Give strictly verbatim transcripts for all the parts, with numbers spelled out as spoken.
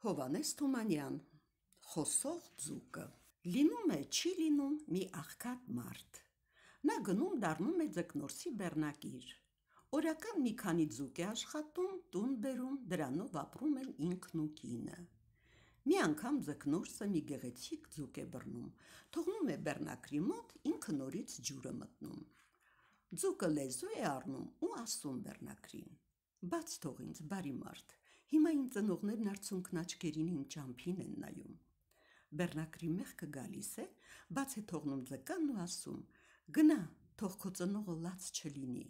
Հովհաննես Թումանյան, Խոսող ձուկը։ Լինում է, չի լինում մի աղքատ մարդ։ Նա գնում դառնում է ձկնորսի բեռնակիր։ Օրական մի քանի ձուկ է աշխատում, տուն բերում, դրանով ապրում են ինքն ու կինը։ Մի անգամ ձկնորսը մի գեղեցիկ ձուկ է բռնում, թողնում է բեռնակրի մոտ, ինքը նորից ջուր է մտնում։ Ձուկը լեզու է առնում ու ասում բեռնակրին. «Բաց թող ինձ, բարի մարդ, հիմա իմ ծնողներն արցունքն աչքերին իմ ճամփին են նայում»։ Բեռնակրի մեղքը գալիս է, բաց է թողնում ձկանն ու ասում. «Գնա, թող քո ծնողը լաց չլինի»։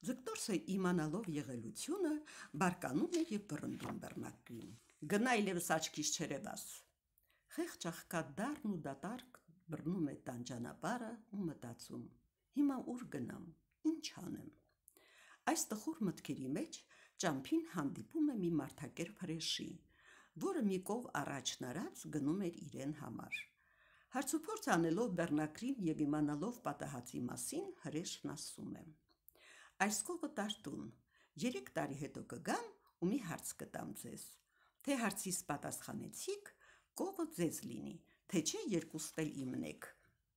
Ձկնորսը իմանալով եղելությունը, բարկանում է և վռնդում բեռնակրին. «Գնա այլևս աչքիս չերևաս»։ Խեղճ աղքատ դառն ու դատարկ բռնում է տան ճանապարհը ու մտածում. «Հիմա ուր գնամ, ինչ անեմ»։ Այս տխուր մտքերի մեջ ճամփին հանդիպում է մի մարդակերպ հրեշի, որը մի կով առաջն արած գնում էր իրեն համար։ Հարցուփորձ անելով բեռնակրին և իմանալով պատահածի մասին, հրեշն ասում է. «Այս կովը տար տուն, երեք տարի հետո կգամ ու մի հարց կտամ ձեզ, թե հարցիս պատասխանեցիք, կովը ձեզ լինի, թե չէ երկուստ էլ իմն եք,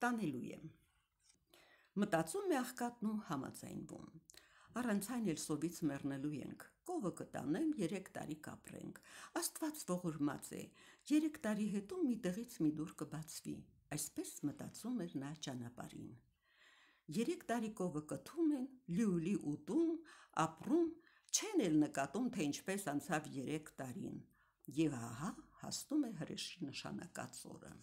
տանելու եմ»։ Մտածում է աղքատն ու համաձայնվում. «Առանց այն էլ սովից մեռնելու ենք, կովը կտանեմ, երեք տարի կապրենք, Աստված ողորմած է, երեք տարի հետո մի տեղից մի դուռ կբացվի»։ Այսպես մտածում էր նա ճանապարհին։ Երեք տարի կովը կթում են, լիուլի ուտում, ապրում, չեն էլ նկատում, թե ինչպես անցավ երեք տարին, և ահա հասնում է հրեշի նշանակած օրը։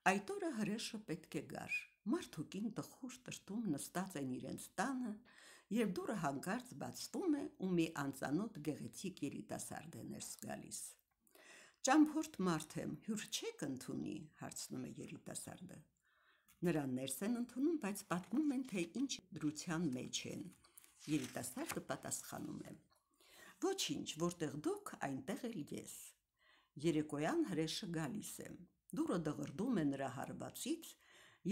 Այդ օրը հրեշը պետք է գար, մարդ ու կին տխուր տրտում նստած են իրենց տանը, և դուռը հանկարծ բացվում է ու մի անծանոթ գեղեցիկ երիտասարդ է ներս գալիս։ «Ճամփորդ մարդ եմ, հյուր չե՞ք ընդունի»։ հարցնում է երիտասարդը։ Նրան ներս են ընդունում, բայց պատմում են, թե ինչ դրության մեջ են։ Երիտասարդը պատասխանում է. «Ոչինչ, որտեղ դուք, այնտեղ էլ ես»։ Երեկոյան հրեշը գալիս է, դուռը դղրդում է նրա հարվածից,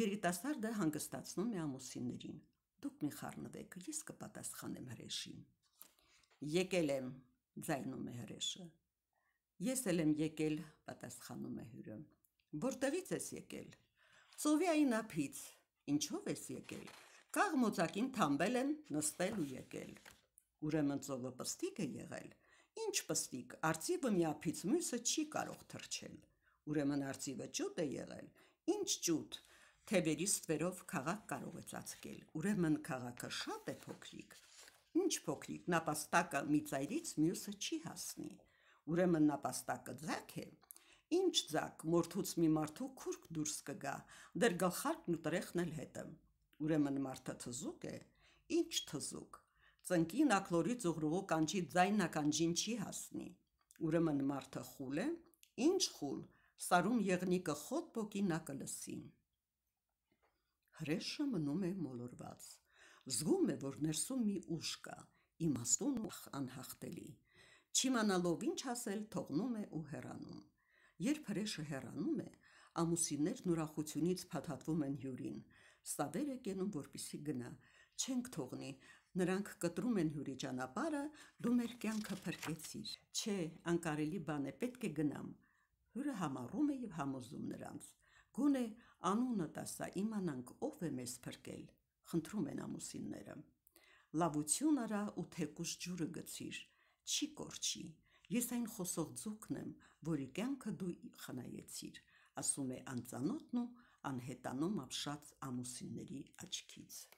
երիտասարդը հանգստացնում է ամուսիններին. «Դուք մի խառնվեք, ես կպատասխանեմ հրեշին»։ «Եկել եմ», ձայնում է հրեշը։ «Ես էլ եմ եկել», պատասխանում է հյուրը։ «Որտեղից ես եկել»։ «Ծովյային ափից»։ «Ինչով ես եկել»։ «Կաղմոծակին թամբել եմ, նստել ու եկել»։ «Ուրեմն ծովը պստիկ է եղել»։ «Ինչ պստիկ, արծիվը մի ափից մյուսը չի կարող թռչել»։ «Ուրեմն արծիվը ճուտ է եղել»։ «Ինչ ճուտ, թևերի ստվերով քաղաք կարող է ծածկել»։ «Ուրեմն քաղաքը շատ է փոքրիկ»։ «Ինչ փոքրիկ, նապաստակը մի ծայրից մյուսը չի հասնի»։ «Ուրեմն նապաստակը ձագ է»։ «Ինչ ձագ, մորթուց մի մարդու քուրք դուրս կգա, դեռ գլխարկն ու տրեխն էլ հետը»։ «Ուրեմն մարդը թզուկ է»։ «Ինչ թզուկ, ծնկին աքլորից ուղրուղու կանչի ձայնն ականջին չի հասնի»։ «Ուրեմն մարդը խուլ է»։ «Ինչ խուլ, սարում եղնիկը խոտ պոկի, նա կլսի»։ Հրեշը մնում է մոլորված, զգում է, որ ներսում մի ուժ կա, իմաստուն ու անհաղթելի, չիմանալով ինչ ասել, թողնում է ու հեռանում։ Երբ հրեշը հեռանում է, ամուսիններն ուրախությունից փաթաթվում են հյուրին, սա վեր է կենում, որպեսզի գնա, չենք թողնի, նրանք կտրում են հյուրի ճանապարհը, դու մեր կյանքը փրկեցիր։ Չէ, անկարելի բան է, պետք է գնամ։ Հյուրը համառում է և համոզում նրանց. «Գոնե անունդ ասա, իմանանք, ով է մեզ փրկել»։ Խնդրում են ամուսինները։ «Լավություն արա ու թեկուզ ջուրը գցիր, չի կորչի, ես այն խոսող ձուկն եմ, որի կյանքը դու խնայեցիր», ասում է անծանոթն ու անհետանում ապշած ամուսինների աչքից։